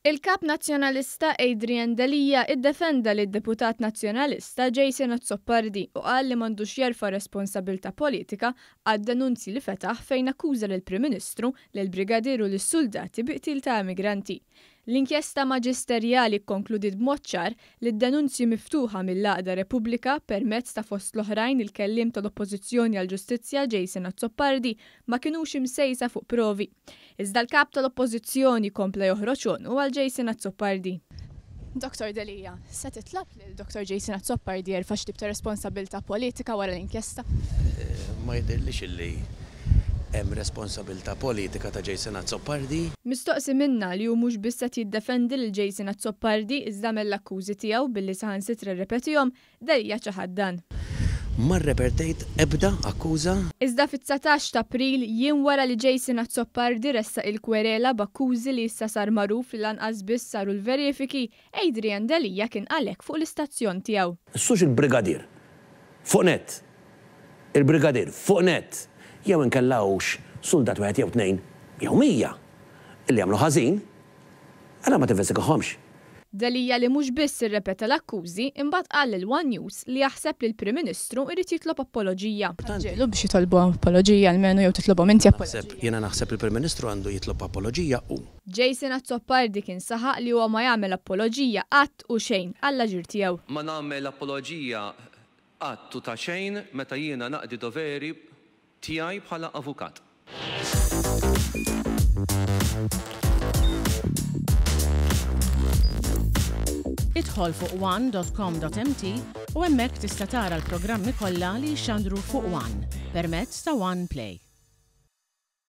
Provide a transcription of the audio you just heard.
Il-Kap Nazzjonalista Adrian Delia iddefenda lid-Deputat Nazzjonalista Jason Azzopardi u qal li m'għandux jerfa' responsabilità politika għad-denunzji li fetaħ fejn akkuża lill-Prim Ministru, lill-Brigadier u lis-suldati bi qtil ta' immigranti. L-inkjesta maġisterjali kkonkludiet b'mod ċar li d-denunzji miftuħa mill-għaqda Repubblika permezz ta' fost l-oħrajn il-kelliem tal-Oppożizzjoni għall-Ġustizzja Jason Azzopardi ma kinux imsejsa fuq provi. Iżda l-Kap tal-Oppożizzjoni kompla joħroġ għonqu għal Jason Azzopardi. Dottor Delia, se titlob lil Dottor Jason Azzopardi jerfa' xi tip ta' responsabilità politika wara l-inkjesta? Ma jidhirlix illi hemm responsabilità politika ta' Jason Azzopardi. Mistoqsi minna li hu mhux biss qed jiddefendi lil Jason Azzopardi iżda għamel l-akkużi tiegħu billi saħansitra rrepetihom, Delia ċaħad dan. Ma rrepertejt ebda akkuża. Iżda fit-19 t'April, jiem wara li Jason Azzopardi ressaq il-kwerela b'akkużi li issa sar magħruf li lanqas biss saru l-verifiki, Adrian Delia kien qal hekk fuq l-istazzjon tiegħu. Sux il-brigadier fuq nett il-brigadier fuq nett jew inkella hux suldat wieħed jew tnejn jew 100 illi għamlu ħażin, allura ma tinvestigahomx. Delia li mhux biss irrepeta l-akkużi, imbagħad qal lil one News li jaħseb li l-Prim Ministru jrid jitlob apoloġija. Ġiegħlu biex jitolbu apoloġija almenu jew titlobhom inti apoloġija. Jiena naħseb li l-Prim Ministru għandu jitlob apoloġija hu. Jason Azzopardi kien saħaq li huwa ma jagħmel apoloġija qatt u xejn għall-aġir tiegħu. Ma nagħmel apoloġija Qatt u ta' xejn meta jiena naqdi doveri tiegħi bħala avukat. Idħol fuq one dot com dot mt u hemmhekk tista' tara l-programmi kollha li jixxandru fuq one permezz ta' One Play.